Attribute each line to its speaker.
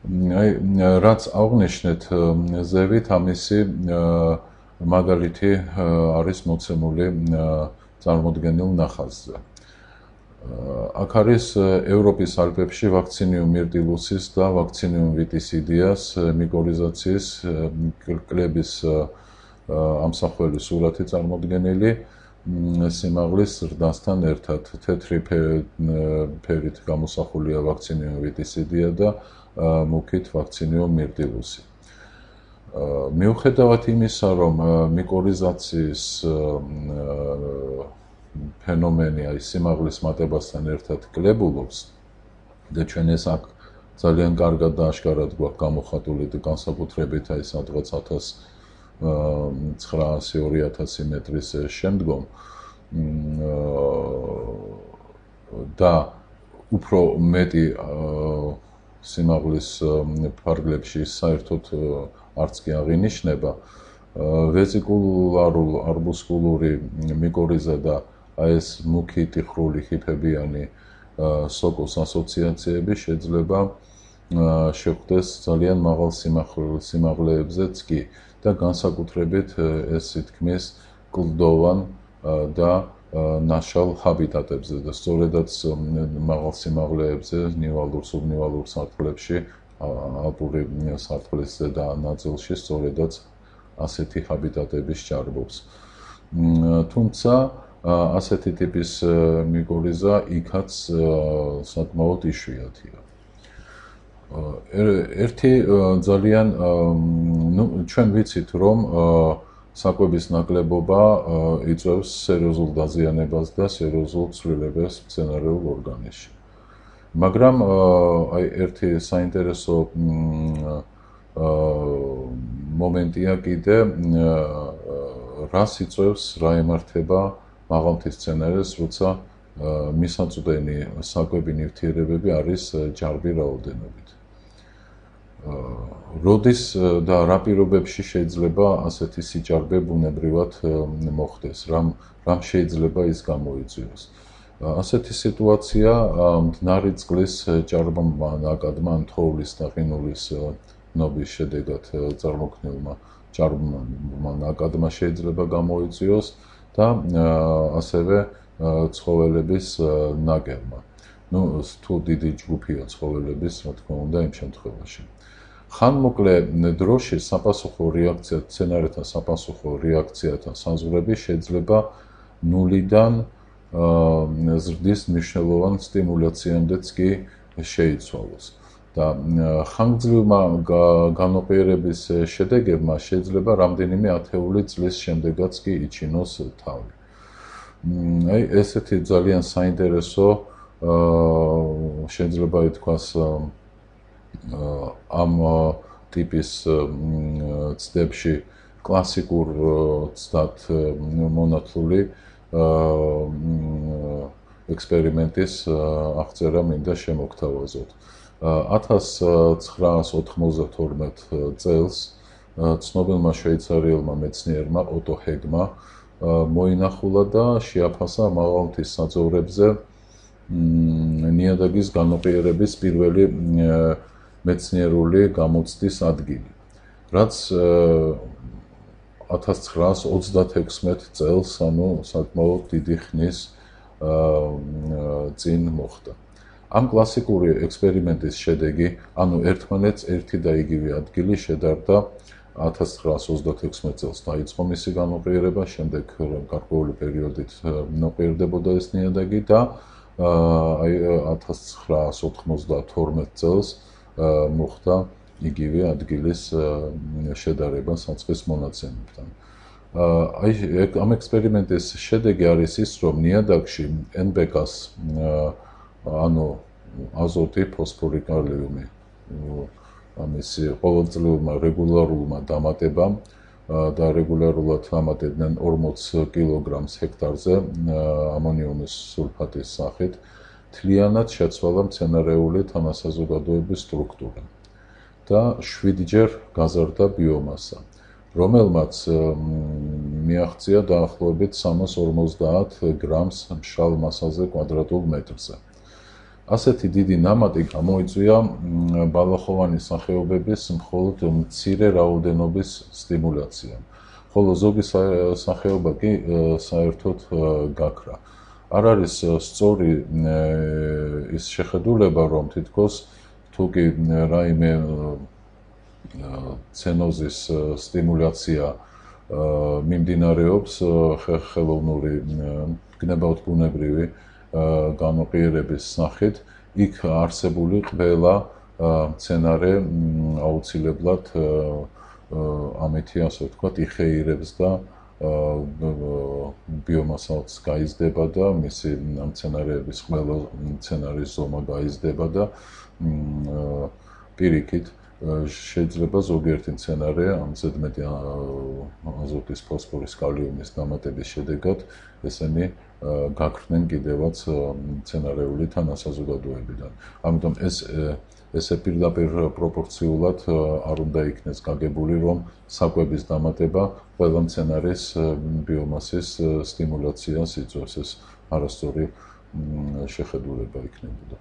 Speaker 1: აი რაც აღნიშნეთ ზევით ამისი მაგალითი არის მოცემული წარმოდგენილ ნახაზზე. აქ არის ევროპის ალპებში ვაქცინიუმ მირტილუსის და ვაქცინიუმ ვიტისიდიას მიკორიზაციის კლების ამსახველი სურათი წარმოდგენილი სიმაღლის ზრდასთან ერთად. თეთრი ფერით გამოსახულია ვაქცინიუმ ვიტისიდია და მუქით ვაქცინიუმ მირტილუსი. მიუხედავად იმისა, რომ მიკორიზაციის ფენომენი აი სიმაღლის მატებასთან ერთად კლებულობს და ჩვენ ეს აქ ძალიან კარგად და აშკარად გვაქვს გამოხატული და განსაკუთრებით აი სადღაც 1900-2000 მეტრის შემდგომ და უფრო მეტი სიმაღლის ფარგლებში საერთოდ არც კი აღინიშნება ვეზიკულარულ არბუსკულური მიკორიზა და აი ეს მუქი ტიხრული ჰიფებიანი სოკოს ასოციაციები შეიძლება შეხვდეს ძალიან მაღალ სიმაღლეებზეც კი და განსაკუთრებით ეს თქმის კლდოვან და ნაშალ ჰაბიტატებზე და სწორედაც მაღალ სიმაღლეებზე ნივალურ სუბნივალურ სარტყლებში ალპური სარტყლის ზედა ნაწილში სწორედაც ასეთი ჰაბიტატების ჭარბობს. თუმცა ასეთი ტიპის მიკორიზა იქაც საკმაოდ იშვიათია. ერთი ძალიან ჩვენ ვიცით რომ საკვების ნაკლებობა იწვევს სერიოზულ დაზიანებას და სერიოზულ ცვლილებას მცენარეულ ორგანიზმში. მაგრამ აი ერთი საინტერესო მომენტია კიდე რას იწვევს რა ემართება მაღალმთის მცენარეს, როცა მისაწვდენი საკვები ნივთიერებები არის ჯარბი რაოდენობით. როდის და რა პირობებში შეიძლება ასეთი სიჭარბე ბუნებრივად მოხდეს, რამ შეიძლება ის გამოიწვიოს. ასეთი სიტუაცია მდნარი წყლის ჭარბმა ნაკადმა ან თოვლის და ყინულის ნობის შედეგად წარმოქმნილმა ჭარბმა ნაკადმა შეიძლება გამოიწვიოს და ასევე ცხოველების ნაკერმა. თუ დიდი ჯგუფია ცხოველების, რა თქმა უნდა, იმ შემთხვევაში. ხანმოკლე დროში საპასუხო რეაქცია, მცენარეთა საპასუხო რეაქციათა საზღვრები შეიძლება ნულიდან ზრდის მნიშვნელოვან სტიმულაციამდეც კი შეიცვალოს. და ხანგრძლივმა განოპიერების შედეგებმა შეიძლება რამდენიმე ათეული წლის შემდეგაც კი იჩინოს თავი. აი ესეთი ძალიან საინტერესო შეიძლება ითქვას ამ ტიპის ცდებში კლასიკურ ცდად მონათლული ექსპერიმენტის აღწერა მინდა შემოგთავაზოთ. 1992 წელს ცნობილმა შვეიცარიელმა მეცნიერმა ოტო ჰეგმა მოინახულა და შეაფასა მაღალმთის საძოვრებზე ნიადაგის განოპიერების პირველი მეცნიერული გამოცდის ადგილი, რაც 1936 წელს, ანუ საკმაოდ დიდი ხნის წინ მოხდა. ამ კლასიკური ექსპერიმენტის შედეგი, ანუ ერთმანეთს ერთი და იგივე ადგილი შედარდა 1936 წელს დაიწყო მისი განოპიერება, შემდეგ გარკვეული პერიოდით ნოპიერდებოდა ეს ნიადაგი და აი 1992 წელს მოხდა იგივე ადგილის შედარება საწყის მონაცემებთან. აი ამ ექსპერიმენტის შედეგი არის ის, რომ ნიადაგში NPK-ს ანუ აზოტი, ფოსფორი, კალიუმი ამისი ყოველწლიურმა რეგულარულმა დამატებამ და რეგულარულად დამატებდნენ 40 კილოგრამს ჰექტარზე ამონიუმის სულფატის სახით, მთლიანად შეცვალა მცენარეული თანასაზოგადოების სტრუქტურა და 7-ჯერ გაზარდა ბიომასა, რომელმაც მიაღწია დაახლოებით 350 გრამს მშრალ მასაზე კვადრატულ მეტრზე. ასეთი დიდი ნამატი გამოიწვია ბალახოვანი სახეობების მხოლოდ მცირე რაოდენობის სტიმულაციამ, ხოლო ზოგი სახეობა კი საერთოდ გაქრა. არ არის სწორი ის შეხედულება, რომ თითქოს თუ კი რაიმე ცენოზის სტიმულაცია მიმდინარეობს ხელოვნური გნებავთ ბუნებრივი განოყიერების სახით, იქ არსებული ყველა მცენარე აუცილებლად ამითი, ასე ვთქვათ, იხეირებს და ბიომასაც გაიზრდება და მისი მცენარეების ყველა მცენარის ზომა გაიზრდება და პირიქით შეიძლება ზოგიერთი მცენარე ამ ზედმეტი აზოტის, ფოსფორის, კალიუმის დამატების შედეგად ესენი გაქრნენ კიდევაც მცენარეული თანასაზოგადოებიდან. ამიტომ ესე პირდაპირ პროპორციულად არ უნდა იქნეს გაგებული, რომ საკვების დამატება ყველა მცენარის ბიომასის სტიმულაციას იწვევს. ეს არასწორი შეხედულება იქნებოდა.